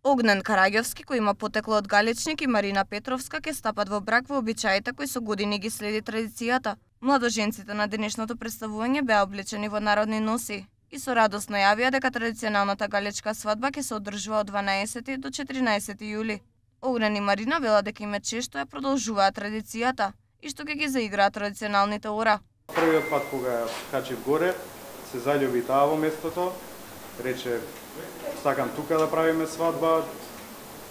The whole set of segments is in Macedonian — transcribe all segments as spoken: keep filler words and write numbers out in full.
Огнен Караѓовски, кој има потекло од Галичник, и Марина Петровска ќе стапат во брак во обичаите кои со години ги следи традицијата. Младоженците на денешното представување беа облечени во народни носи и со радост најавија дека традиционалната галичка свадба ќе се одржува од дванаесети до четиринаесети јули. Огнен и Марина вела дека им е чест што ја продолжуваат традицијата и што ќе ги заиграат традиционалните ора. Првиот пат кога ја качив горе, се заљуби таа во местото, рече сакам тука да правиме свадба,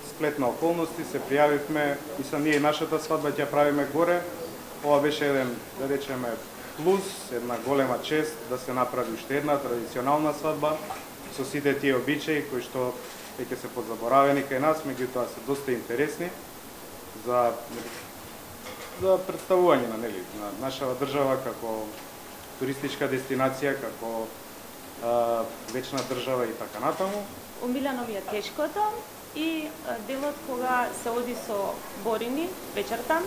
сплет на околности, се пријавивме и са ние нашата свадба ќе правиме горе. Ова беше еден, да речеме, плюс, една голема чест да се направи уште една традиционална свадба со сите тие обичаи кои што веќе се подзаборавени кај нас, меѓутоа се доста интересни за за представување на нели на нашава држава како туристичка дестинација, како а, вечна држава и така натаму. Омилено ми е тешкото и делот кога се оди со борини вечерта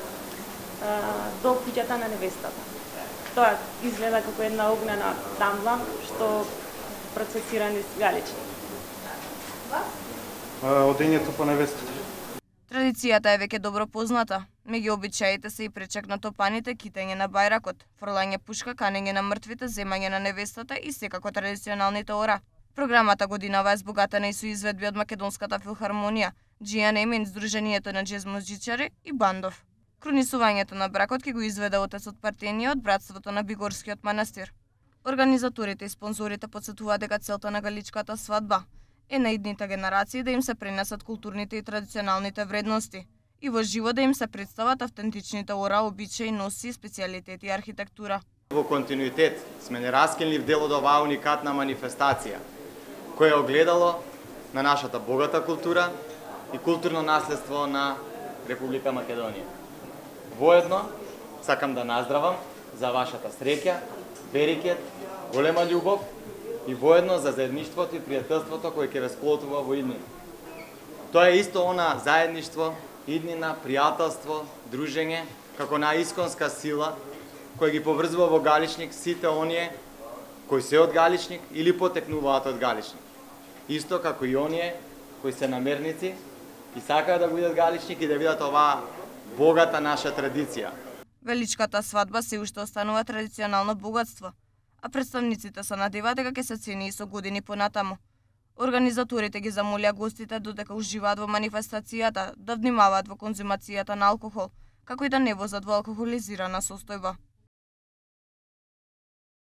до куќата на невестата. Тоа изгледа како една огнена тамла што процесира низ Галичник. Одењето по невестата. Традицијата е веќе добро позната. Меѓу обичаите се и пречек на топаните, китење на бајракот, фрлање пушка, канење на мртвите, земање на невестата и секако традиционалните ора. Програмата годинава е збогатена и со изведби од Македонската филхармонија, джи ен ем, Сдруженијето на џез музичари и бандов. Кронисувањето на бракот ќе го изведе отецот Партенија од братството на Бигорскиот манастир. Организаторите и спонзорите потсетуваат дека целта на галичката свадба е на идните генерации да им се пренесат културните и традиционалните вредности и во живо да им се представат автентичните ора, обичаи, носи, специјалитети и архитектура. Во континуитет сме нераскинлив дел од оваа уникатна манифестација, која е огледало на нашата богата култура и културно наследство на Република Македонија. Воедно сакам да наздравам за вашата среќа, берекет, голема љубов и воедно за заедништвото и пријателството кое ќе ве сплотува во иднина. Тоа е исто она заедништво, иднина, пријателство, дружење, како наисконска сила која ги поврзува во Галичник сите оние кои се од Галичник или потекнуваат од Галичник. Исто како и оние кои се намерници и сакаат да бидат Галичник и да видат оваа богата наша традиција. Величката свадба се уште останува традиционално богатство, а представниците се надеваат дека ќе се цени и со години понатаму. Организаторите ги замолија гостите додека уживаат во манифестацијата да внимаваат во конзумацијата на алкохол, како и да не возат во алкохолизирана состојба.